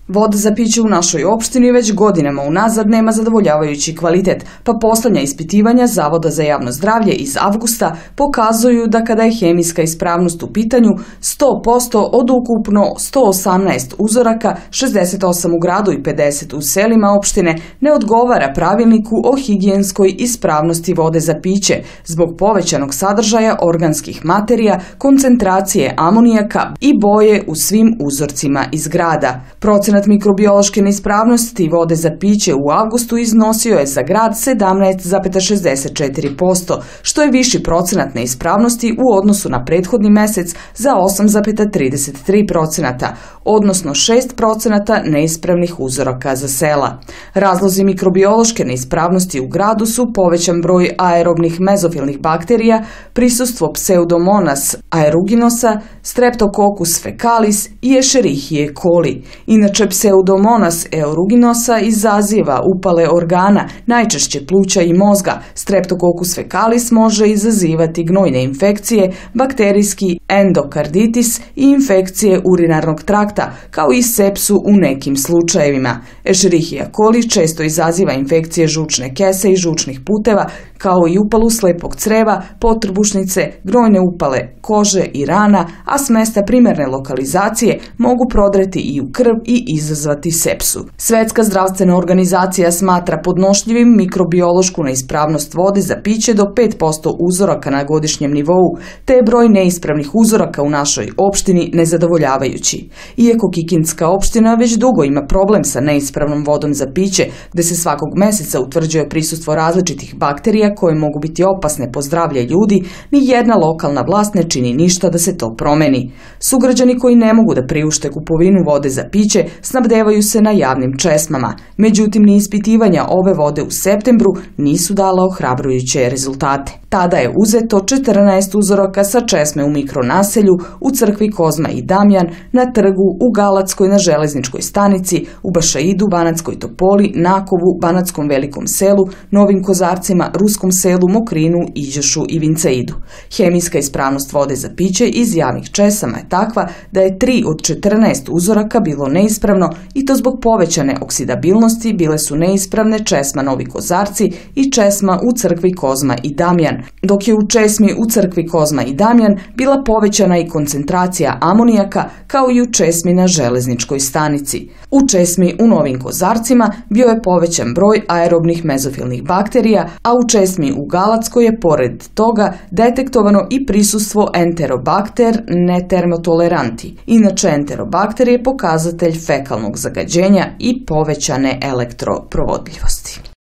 Voda za piće u našoj opštini već godinama unazad nema zadovoljavajući kvalitet, pa poslednja ispitivanja Zavoda za javno zdravlje iz avgusta pokazuju da kada je hemijska ispravnost u pitanju, 100% od ukupno 118 uzoraka, 68 u gradu i 50 u selima opštine, ne odgovara pravilniku o higijenskoj ispravnosti vode za piće zbog povećanog sadržaja organskih materija, koncentracije amonijaka i boje u svim uzorcima iz grada. Procenat mikrobiološke neispravnosti vode za piće u avgustu iznosio je za grad 17,64%, što je viši procenat neispravnosti u odnosu na prethodni mesec za 8,33%, odnosno 6% neispravnih uzoraka za sela. Razlozi mikrobiološke neispravnosti u gradu su povećan broj aerobnih mezofilnih bakterija, prisustvo Pseudomonas aeruginosa, Streptococcus fecalis i Escherichia coli. Inače, Pseudomonas aeruginosa izaziva upale organa, najčešće pluća i mozga. Streptococcus fecalis može izazivati gnojne infekcije, bakterijski endokarditis i infekcije urinarnog trakta, kao i sepsu u nekim slučajevima. Escherichia coli često izaziva infekcije žučne kese i žučnih puteva, kao i upalu slepog creva, potrbušnice, gnojne upale kože i rana, a s mesta primerne lokalizacije mogu prodreti i u krv i izazvati sepsu. Svetska zdravstvena organizacija smatra podnošljivim mikrobiološku neispravnost vode za piće do 5% uzoraka na godišnjem nivou, te je broj neispravnih uzoraka u našoj opštini nezadovoljavajući. Iako Kikindska opština već dugo ima problem sa neispravnom vodom za piće, gde se svakog meseca utvrđuje prisustvo različitih bakterija koje mogu biti opasne po zdravlje ljudi, ni jedna lokalna vlast ne čini ništa da se to promeni. Sugrađani koji ne mogu da priušte kupovinu vode za piće snabdevaju se na javnim česmama. Međutim, ni ispitivanja ove vode u septembru nisu dala ohrabrujuće rezultate. Tada je uzeto 14 uzoraka sa česme u mikronaselju, u crkvi Kozma i Damjan, na trgu, u Galackoj na železničkoj stanici, u Bašaidu, Banatskoj Topoli, Nakovu, Banatskom Velikom selu, Novim Kozarcima, Ruskom selu, Mokrinu, Iđošu i Vinceidu. Hemijska ispravnost vode za piće iz javnih česama je takva da je 3 od 14 uzoraka bilo neispravno i to zbog povećane oksidabilnosti bile su neispravne česma Novi Kozarci i česma u crkvi Kozma i Damjan, dok je u česmi u crkvi Kozma i Damjan bila povećana i koncentracija amonijaka kao i u česmi na železničkoj stanici. U česmi u Novim Kozarcima bio je povećan broj aerobnih mezofilnih bakterija, a u česmi u Galackoj je pored toga detektovano i prisustvo Enterobacter netermotoleranti. Inače, Enterobacter je pokazatelj fekalnog zagađenja i povećane elektroprovodljivosti.